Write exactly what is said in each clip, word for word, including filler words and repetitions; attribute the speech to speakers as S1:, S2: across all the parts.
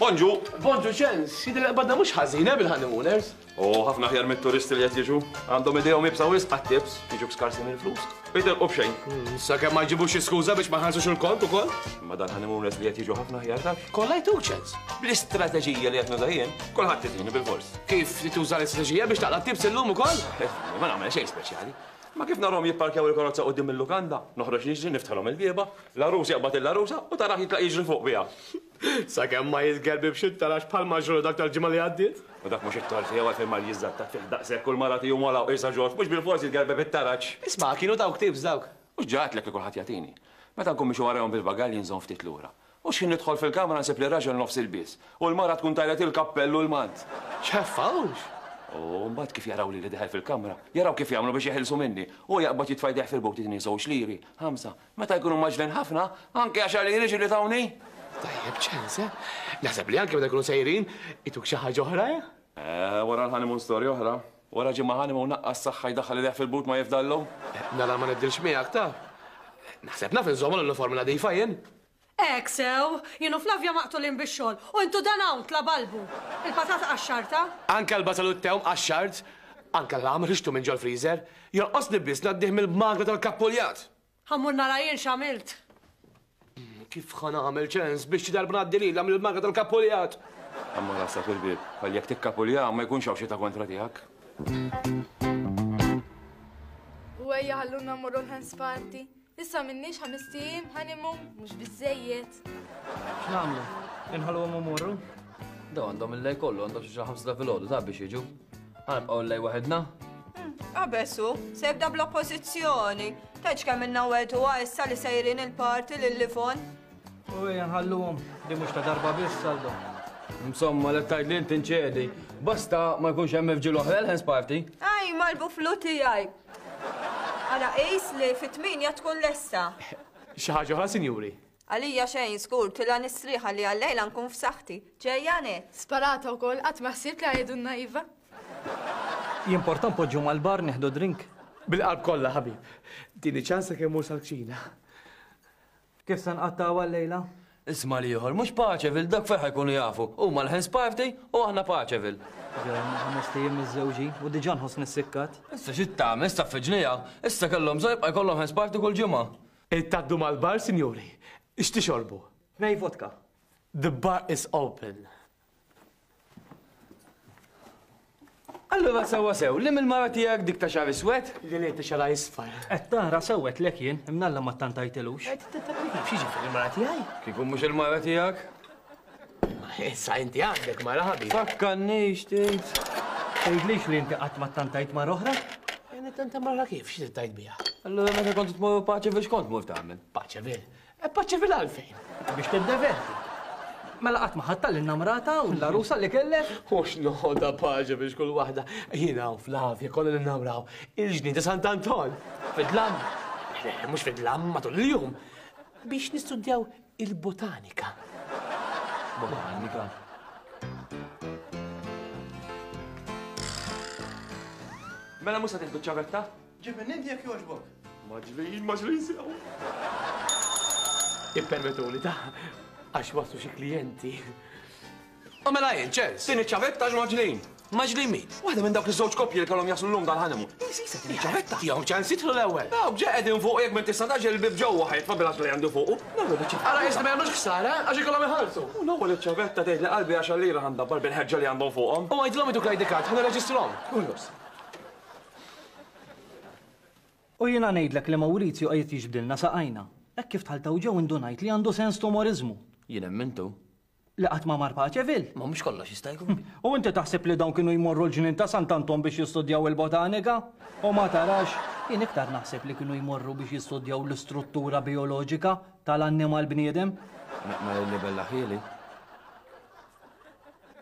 S1: Bonġu!
S2: Bonġu ċens, jidher li qbadna mhux ħażin eh bil-honeymooners.
S1: U ħafna aħjar mit-turisti li qed jiġu. Għandhom idejhom iebsa wisq għat-tips, jiġu skarsi mill-flus. U jitilqu b'xejn.
S2: Sakemm ma jġibux xi skuża biex ma jħallsux il-kont ukoll.
S1: Imma dan honeymooners li qed jiġu ħafna aħjar taf.
S2: Kollha jtuk ċens.
S1: Bl-istrateġija li qed nuża jien, kulħadd itini bil-fors.
S2: Kif li tuża l-istrateġija biex taqla' tips illum ukoll?
S1: Ma nagħmel xejn speċjali. Ma kif narhom jipparkjaw il-karozza quddiem il-lukanda, noħroġ niġri niftħalhom il-bieba, l-għarus jaqbad il-għarusa u tarah jitlaq jiġri fuq biha.
S2: Sakemm ma jitgerbibx it-tarax bħal ġralu dak tal-ġimgħa li għaddiet.
S1: U dak mhux it-tort tiegħu għalfejn mar jiżżattat fih daqshekk u l-mara tiegħu mala u qisha ġorġ, mhux bil-fors jitgerbeb it-taraġ.
S2: Isma' kienu dawk tips dawk.
S1: Mhux ġatlek li kulħadd jagħtini. Meta nkun mixi warahom bil-bagalji nżomm ftit lura. U x'ħin nidħol fil-kamra nsib li raġel nofs il-bies u l-mara tkun tajlet il-kappell u l-mant.
S2: X'ħeffawx!
S1: U mbagħad kif jaraw li li deħel fil-kamra, jaraw kif jagħmlu biex jeħilsu minni. U jaqbad jitfa' jdejh fil-but jitni żewġ liri, ħamsa. Meta jkunu maġlin ħafna, anke għaxar liri ġieli tawni.
S2: Tajjeb ċens, eh? Naħseb li anke meta jkunu sejrin, ituk xi ħaġa oħra, eh?
S1: Eh, wara l-honeymoon storja oħra. Wara ġimgħa honeymoon naqqas saħħa jdaħħal idejh fil-but ma jifdallu.
S2: Nara ma nibdilx miegħek ta. Naħseb naf inżommu l-uniformi nadifa jien.
S3: Hekk sew, jien u Flavia maqtulin bix-xogħol u intu dan hawn tlabalbu. Il-patata qaxxarta?
S2: Anke l-basal u t-tewm qaxxart, anke l-għam ħriġtu minn ġol-freezer, jonqosni biss ngħaddih mill-magra tal-kappuljat.
S3: Ħa mmur nara jien x'għamilt.
S2: Kif ħa nagħmel ċens biex xi darba ngħaddi lilha mill-magra tal-kappuljat?
S1: Amma rasa fil-bieb, ħalli jekk tikkapulja ma jkunx hawn xita kontra tiegħek.
S4: U ejja ħalluna mmorru l-hands party. Issa minnix ħamest ijiem honeymoon mhux biżejjed.
S5: X'nagħmlu? Inħalluhom imorru?
S6: Daw għandhom il-lej kollu, għandhom xi ħamsa ta' filgħodu ta' biex jiġu. Ħa nibqgħu l-lej waħedna?
S7: Qabesu, se jibda bl-oppożizzjoni. Tgħidx kemm ilna wegħduha issa li sejrin il-party lil Livon.
S5: U ejja nħalluhom, di mhux ta' darba biss Aldo.
S6: Insomma, li tgħid li inti nċedi. Basta ma jkunx hemm irġiel oħra l-hands party.
S7: Aj, mal-buflu tiegħi. Ara qis li fit-tmienja tkun lesta.
S2: Xi ħaġa oħra, sinjuri?
S7: Għalija xejn żgur, tilha nistrieħ li għal-lejla nkun f'saħħti. Ġejja net.
S4: Sparata wkoll qatt ma ħsibt li għajdulna iva.
S5: Jimporta npoġġu mal-bar nieħdu drink.
S2: Bil-qalb kollha, ħabib. Dini ċansa kemm mur sal-kċina.
S5: Kif se nqattgħu għal-lejla?
S6: Isma' li ieħor, mhux Paċeville, dak fejn ħajkunu jafu. Huma l-hands party u aħna Paċeville.
S5: Ġejna ħames ijiem miżżewġin u diġà nħossni ssikkat.
S6: Issa xi tagħmel, issa ffiġnija. Issa kellhom bżonn jibqa' jkollhom hands party kull ġimgħa.
S2: Tgħaddu mal-bar, sinjuri. X'tixorbu?
S5: Tnej vodka.
S2: The bar is open.
S6: Allura sewwa sew, li mill-mara tiegħek dik ta' xagħar iswed?
S2: Li li ta' xagħar isfar.
S5: Qed tara sewwet lek jien, imnalla ma ttantajtilux.
S2: Qed tittantajtilux, x'jiġifieri il-mara tiegħi?
S6: Kieku mhux il-mara tiegħek?
S2: Issa inti għandek mara ħabib.
S6: Fakkarnix tgħid.
S5: Tgħidlix li inti qatt ma ttantajt mara oħra?
S2: Jien nittanta mara kif, xi tittajt biha?
S6: Allura meta kont tmur Paċeville x'kont tmur tagħmel?
S2: Paċeville? E Paċeville għalfejn?
S5: Biex tiddeverti. Mela qatt ma ħadd tal-innamrata u l-għarusa li kellek?
S2: U x'noħodha paċe biex kull waħda. Jiena u Flavia konna ninnamraw il-ġnien ta' Sant'Anton. Fid-dlam. Le, mhux fid-dlam matul il-jum. Biex nistudjaw il-botanika.
S6: Botanika.
S1: Mela mhux se tieħdu ċ-ċavetta?
S8: Ġib minn inti jekk jogħġbok.
S1: Maġlin, maġlin sew.
S2: Ippermettuli ta' għax waslu xi klijenti. U mela jien, ċens.
S1: Din iċ-ċavetta għax maġlin.
S2: Maġlin min?
S1: Waħda minn dawk iż-żewġ koppji li kellhom jaslu llum dal-honeymoon. Isi, din iċ-ċavetta.
S2: Tihom ċans jidħlu l-ewwel.
S1: Dawk ġa qegħdin fuq jekk minn tista' taġel il-bib ġewwa ħajtfa' bil-għażla li għandu fuqu. Nagħmlu biċ-ċavetta.
S2: Ara issa ma jagħmlux ħsara għax ikollhom iħallsu.
S1: U l-ewwel iċ-ċavetta tgħid li qalbi għaxar lira ħandabbar bil-ħeġġa li għandhom fuqhom.
S2: U għidilhom iduk l-I D card, ħa nirreġistrahom.
S1: Kullos.
S5: U jiena ngħidlek li Maurizio qiegħed jiġbdilna saqajna. Hekk kif dħaltaw ġew indunajt li għandu sens t'umorizmu.
S6: Jien emmintu.
S5: Li qatt ma mar Paċeville.
S6: Ma mhux kollox jista' jkun.
S5: U inti taħseb li dawn kienu jmorru l-ġnien ta' Sant'Anton biex jistudjaw il-botanika? U ma tarax, jien iktar naħseb li kienu jmorru biex jistudjaw l-istruttura bioloġika tal-annimal bniedem.
S6: Ma li bella ħieli.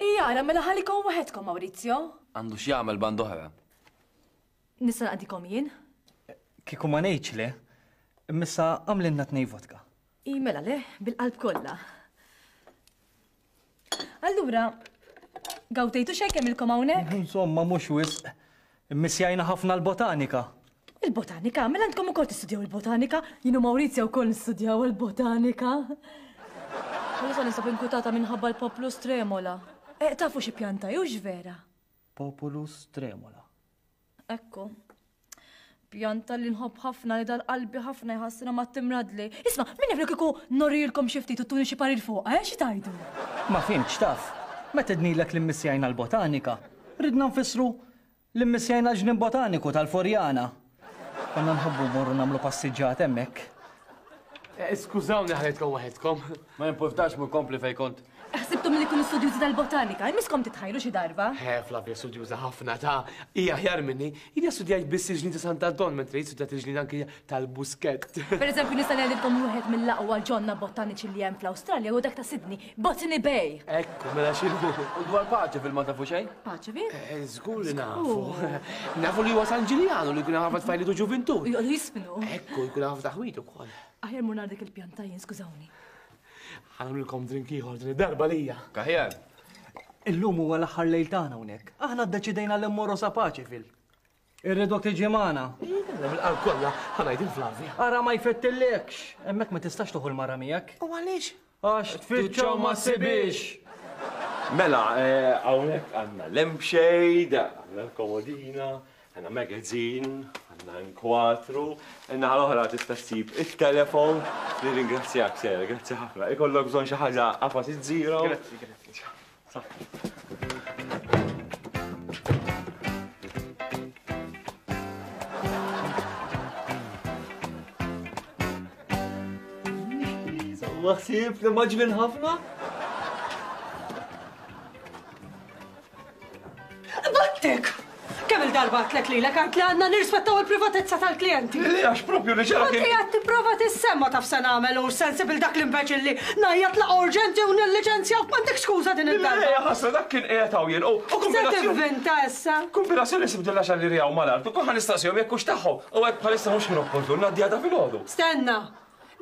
S4: Ija, ara mela ħallikom waħedkom, Maurizio.
S6: Għandu x'jagħmel band oħra.
S4: Nista' naqdikom jien?
S5: Kieku ma ngħidx le, imma għamlilna tnej vodka.
S4: I mela le, bil-qalb kollha. Allura, gawtejtu xejn kemm ilkom hawnhekk?
S5: Insomma, mhux wisq. Immissjajna ħafna l-botanika.
S4: Il-botanika? Mela għandkom ukoll tistudjaw il-botanika? Jien u Maurizio wkoll nistudjaw il-botanika.
S3: Bħalissa ninsab inkwetata minħabba l-Populus Tremola. Eh, tafu xi pjanta hux vera?
S5: Populus Tremola.
S3: Ekku. Pjanta li nħobb ħafna li dal-qalbi ħafna jħassina ma timradli. Isma', min jaf li kieku norilkom xi ftit u tuni xi parir fuq, eh, xi tajdu?
S5: Ma fhimtx taf. Meta tgħidnilek li mmissjajna l-botanika, ridna nfissru li mmissjajna l-ġnien botaniku tal-Forjana. Konna nħobbu mmorru nagħmlu passiġġat hemmhekk.
S2: Skużawni ħalejtkom waħedkom.
S6: Ma jimpurtax mur kompli fejn kont.
S3: Ħsibtom li kunu studjużi tal-botanika, jmiskom titħajru xi darba.
S2: Eh, Flavia studjuża ħafna ta' hija aħjar minni. Jiena studjajt biss il-ġnien ta' Sant'Anton, mentri hi studjat il-ġnien anki tal-Buskett.
S3: Per eżempju, nista' ngħidilkom wieħed mill-aqwa ġonna botaniċi li hemm fl-Awstralja u dak ta' Sydney, Botany Bay.
S2: Ekku, mela x'inhu.
S6: U dwar Paċeville ma tafu xejn?
S3: Paċeville?
S2: Eh, żgur li nafu. Nafu li huwa San Ġiljanu li jkun ħafna tfajliet u ġuvintur.
S3: Joqogħdu jisfnu.
S2: Ekku, jkun ħafna taħwit ukoll.
S3: Aħjar mur nara dik il-pjanta jien, skużawni.
S2: Ħa nagħmlilkom drink ieħor din id-darba lija.
S6: Kaħjar.
S5: Illum huwa l-aħħar lejl tagħna hawnhekk. Aħna ddeċidejna li mmorru sa Paċeville. Irridok tiġi magħna.
S2: Bil-qalb kollha ħa ngħid il-Flavia.
S5: Ara ma jfettillekx. Hemmhekk ma tistax toħu l-mara miegħek.
S2: U għaliex?
S5: Għax tfittxaw ma ssibix.
S1: Mela, hawnhekk għandna lampshade, għandna l-komodina, għandna magazine, għandna nkwatru, naħa l-oħra tista' ssib it-telefon. Nirringrazzjak, Sera, grazzi ħafna. Ikollok bżonn xi ħaġa qafas iż-żiro.
S2: Grazzi, grazzi.
S1: Maħsib li maġlin ħafna?
S3: Battik! Kemm il-darba għatlek lilek għart li għandna nirrispettaw il-privatezza tal-klijenti.
S1: Li għax propju li ġara
S3: kien. Għad tipprova tissemma taf se nagħmel u sensibil dak l-imbeċilli ngħajjat la urġenti u nilliċenzjawk m'għandek skuża din id-darba.
S1: Le, ħasra dak kien qiegħed hawn jien. U
S3: Se tivvinta issa.
S1: Kombinazzjoni sibdilha xalli rijaw mal-art u kont nistaqsihom jekk hux tagħhom u hekk bħalissa mhux kien opportun ngħaddiha ta' filgħodu.
S3: Stenna.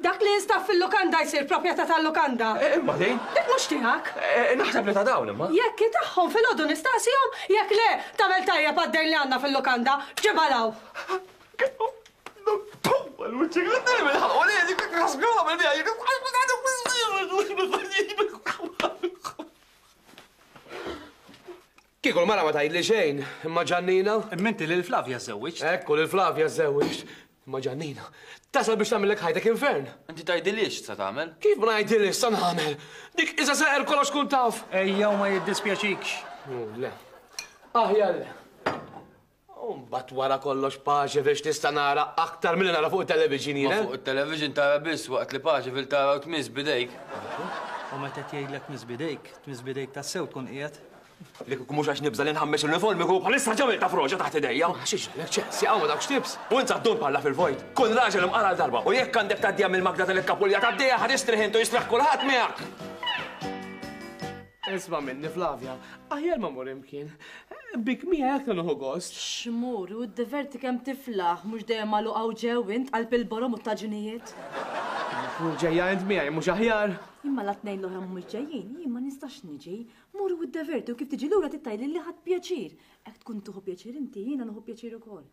S3: Dak li jinstab fil-lukanda jsir proprjetà tal-lukanda.
S1: Imma din?
S3: Dik mhux tiegħek.
S1: Naħseb li ta' dawn imma.
S3: Jekk tagħhom filgħodu nistaqsihom, jekk le tagħmel tajjeb għad-dejn li għandna fil-lukanda, ġibalaw.
S2: Kieku l-mara ma tgħidli xejn, imma Ġannina.
S5: Imma inti lil Flavia żewwiġt.
S2: Ekku lil Flavia żewwiġt. Imma Ġannina, tasal biex tagħmellek ħajtek infern.
S6: Inti tgħidilix sa tagħmel?
S2: Kif ma ngħidilix sa nagħmel? Dik iżda seqer kollox kun taf.
S5: Ejja u ma jiddispjaċikx.
S2: Le. Aħjar le. U mbagħad wara kollox Paċeville biex tista' nara aktar milli nara fuq it-television jien.
S6: Ma fuq it-television tara biss waqt li Paċeville tara u tmiss bidejk.
S5: U meta tgħidlek tmiss bidejk, tmiss bidejk tassew tkun qiegħed.
S1: Li kieku mhux għax nibża' li nħammex l-uniformi kieku bħalissa ġamil ta' froġa taħt idejja.
S2: Xi ġralek ċensi, hawn ma dawkx tips.
S1: U int għaddun bħalla fil-vojt. Kun raġel imqara l-darba u jekk għandek tgħaddija mill-magna tal-ikkapulja tgħaddija ħad jistrieħ int u jistrieħ kulħadd miegħek.
S2: Isma' minni Flavia, aħjar ma mmur imkien. Bik miegħek nieħu gost.
S3: Xmur, u ddiverti kemm tiflaħ, mhux dejjem magħluq hawn ġew int qalb il-borom u t-taġinijiet.
S2: Mur ġejja int miegħi mhux aħjar.
S3: Imma la tnejn l-oħra mhumiex ġejjin, jien ma nistax niġi. Mur u ddiverti u kif tiġi lura tittajli li ħadd pjaċir. Hekk tkun tieħu pjaċir inti, jiena nieħu pjaċir ukoll.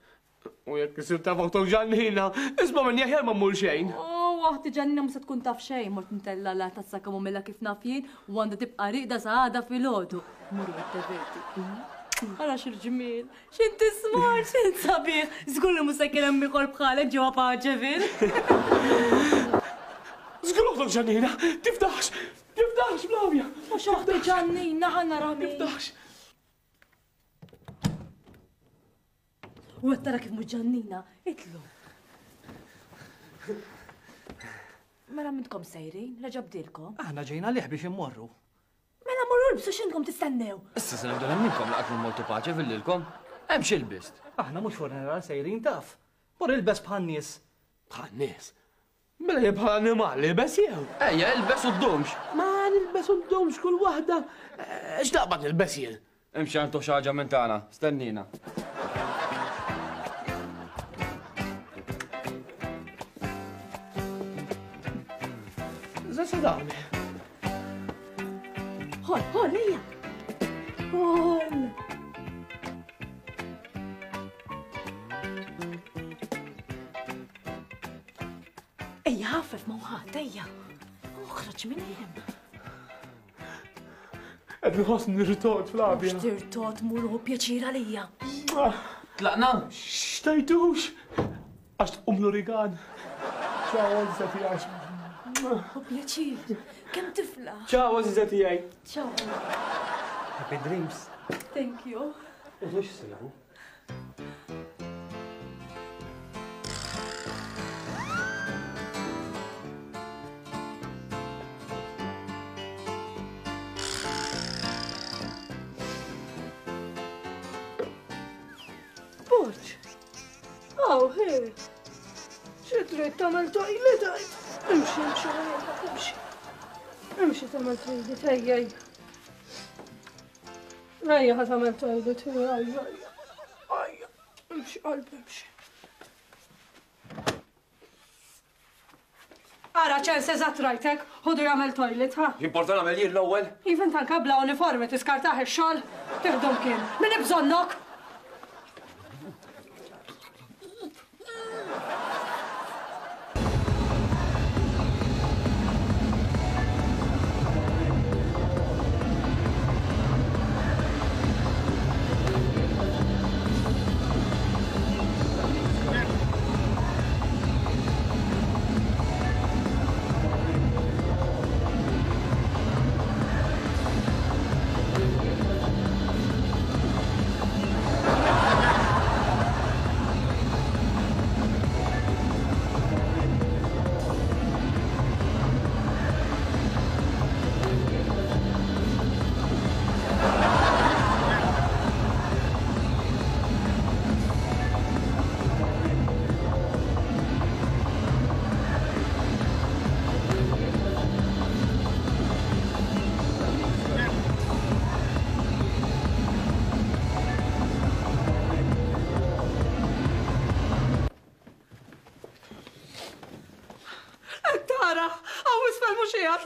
S2: U jekk isir taf oħtok Ġannina, isma' minni aħjar ma mmur xejn.
S3: Oh, oħti Ġannina mhux se tkun taf xejn, mort ntella la tazza kamomilla kif naf jien u għandha tibqa' riqda sa għada filgħodu. Mur u ddiverti. Ara x'irġmiel, x'inti smart, x'int sabiħ. Żgur li mhux se kien hemm ieħor bħalek ġewwa Paċeville.
S2: Żgur oħtok Ġannina, tiftaħx, tiftaħx Flavia.
S3: Mhux oħti Ġannina ħa nara min.
S2: Tiftaħx.
S3: U qed tara kif mhux Ġannina, itlu. Mela mintkom sejrin, reġa' bdilkom.
S5: Aħna ġejna lih biex immorru.
S3: Mela morru lbsu x'intkom tistennew.
S6: Issa se nibda nemminkom laqat minn Molto Paċeville lilkom. Hemm xi lbist.
S5: Aħna mhux funeral sejrin taf. Mur ilbes bħan-nies.
S2: Bħan-nies? Mela jien bħal annimal ilbes jew?
S6: Ejja, ilbes u ddumx.
S2: Ma nilbes u ddumx kull waħda. X'daqbad nilbes jien?
S6: Imxi għandu xi ħaġa minn tagħna, stennina.
S2: Zessa dawn.
S3: Ħol, ħol, ejja. Ħol. Ejja, ħaffef ma' ħadd, ejja. Uħroġ minn hemm.
S2: Qed nħoss nirtod, Flavia.
S3: Mhux tirtod, mur hu pjaċir għalija.
S6: Tlaqna?
S2: X'tajdux? Għax tqum l-origan. Ċaw, għażiża tiegħi.
S3: Hu pjaċir. Kemm tifla.
S2: Ċaw, għażiża tiegħi.
S3: Ċaw.
S5: Happy dreams.
S3: Thank you.
S2: U mhux sibu.
S9: Borġ. Aw, hej. Xi trid tagħmel toilet għid? Imxi, imxi, imxi. Imxi tagħmel toilet, ejja, ejja. Ejja ħa tagħmel toilet, ejja, ejja. Ejja, imxi qalbi, imxi. Ara ċens eżatt rajtek, ħudu jagħmel toilet, ha?
S1: Jimporta nagħmel jien l-ewwel?
S9: Even tanka bla uniformi tiskartaħ ix-xogħol, tiħdom kien. Min bżonnok?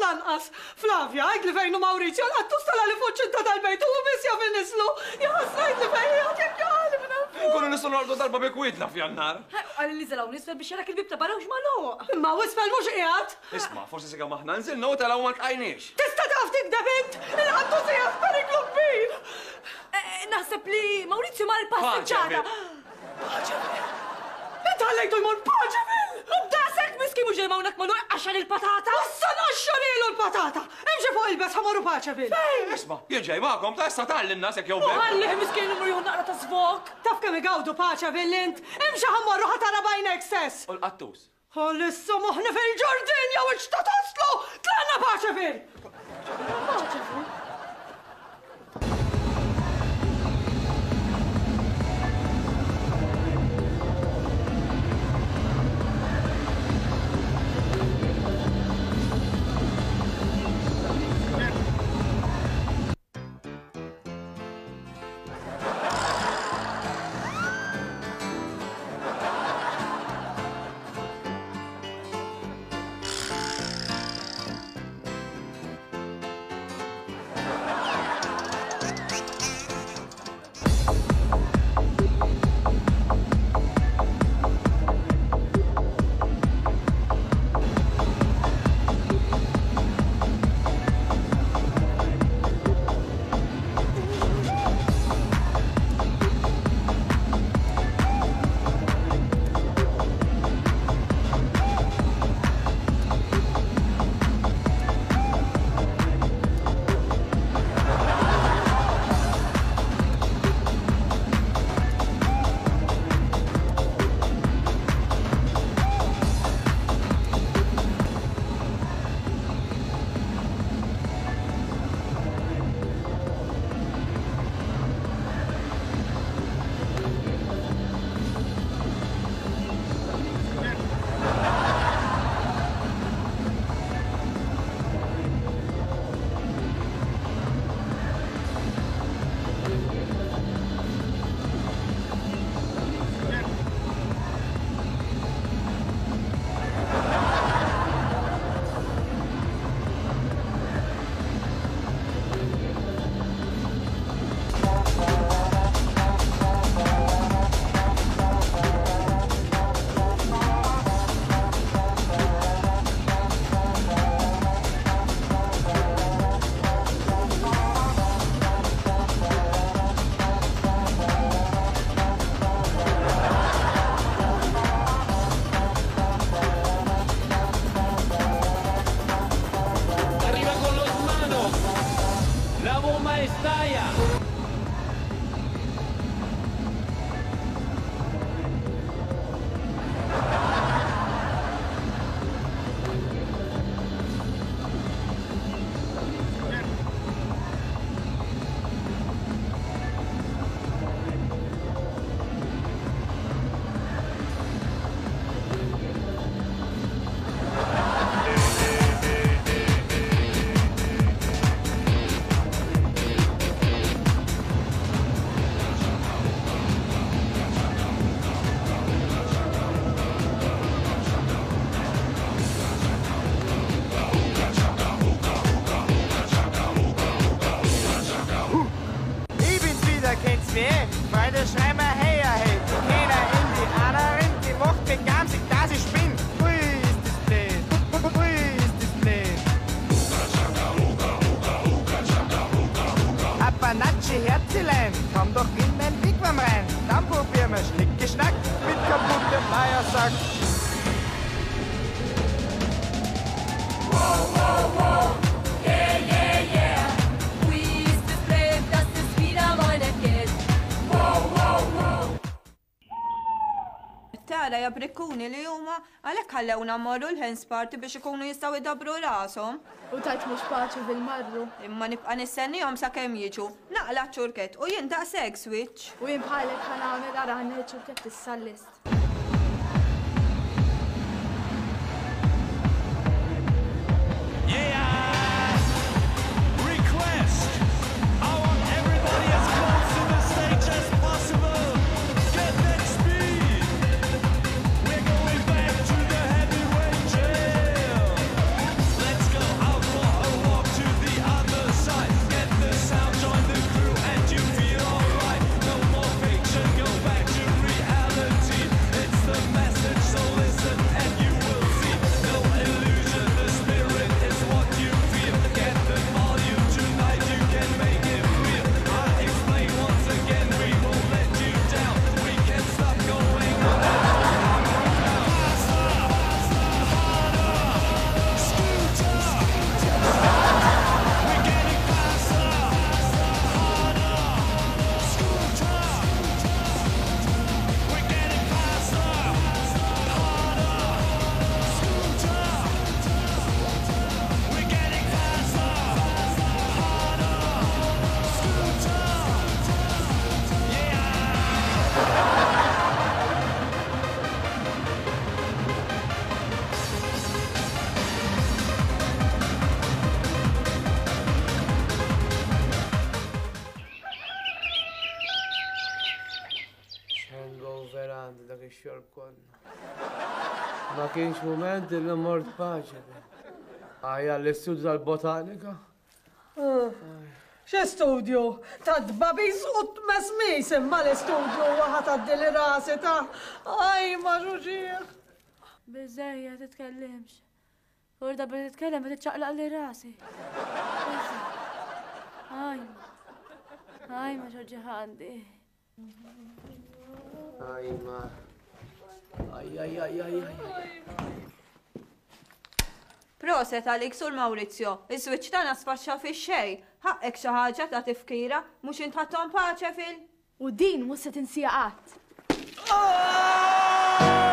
S9: Lanqas. Flavia, għid li fejnu Maurizio, l-qattus tala li fuq ċinta tal-bejt u biss jaf innislu. Jaħasra għid li fejn jgħid jekk jgħali minn hemm.
S1: Nkunu nistgħu nordu darba bi kwietna f'Jannar.
S3: Għalli li żelaw nisfel biex jarak il-bib ta' barra u x'magħluq.
S9: Imma wisfel mhux qiegħed.
S1: Isma', forsi sika maħna nżilna u telgħu ma lqajniex.
S9: Tista' taf tikdeb int? Il-qattus qiegħed f'periklu kbir.
S3: Naħseb li Maurizio mar il-passiġġata.
S9: Paċeville. Int ħallejtu jmur Paċeville!
S3: U b'daqshekk miskin mhux ġej hawnhekk magħluq għaxar il-patata.
S9: Issa nqaxxarilu l-patata! Imxi fuq il-bes ħa morru Paċeville.
S1: Isma', jien ġej magħkom ta' issa tgħalli n-nas jekk jew
S3: U ħallih miskin imur jieħu naqra ta' svok.
S9: Taf kemm igawdu Paċeville int? Imxi ħa mmorru ħa tara b'għajnek stess.
S1: U l-qattus.
S9: Ħalissa moħħni fil-ġardin jew ixta taslu! Tlaqna Paċeville!
S3: Paċeville.
S10: Schätzelein, komm doch in mein Wigwam rein. Dann probieren wir Schnickeschnack mit kaputtem Eiersack.
S11: Wow, wow, wow, yeah, yeah, yeah. Ui, ist es blöd, dass es wieder mal nicht geht. Wow, wow, wow.
S7: Tara ja brikkuni li huma għalhekk ħallewna mmorru l-hens party biex ikunu jistgħu jdabbru rashom.
S4: U tajt mhux paċi bil-marru.
S7: Imma nibqa' nistennihom sakemm jiġu. Naqla' ċ-ċurkett u jien daqshekk switch.
S4: U jien bħalek ħa nagħmel ara ħa ċ-ċurkett issa lest.
S2: Ma kienx mument li mort paċe. Għajja l-istudju tal-botanika.
S9: X'e studju? Ta' dbabiż u tmesmis imma l-istudju waħa tgħaddi li rasi ta' aj ma xuġieħ.
S3: Biżejja titkellimx. Urda biex titkellem qed tiċċaqlaq li rasi. Aj. Aj ma xuġieħ għandi.
S2: Aj ma. Aj, aj, aj, aj, aj.
S7: Proset għalik sur Maurizio, iż-żwieġ tagħna sfaxxa fix-xejn. Ħaqek xi ħaġa ta' tifkira, mhux intħatthom paċe fil.
S4: U din mhux se tinsija qatt.
S10: Oh!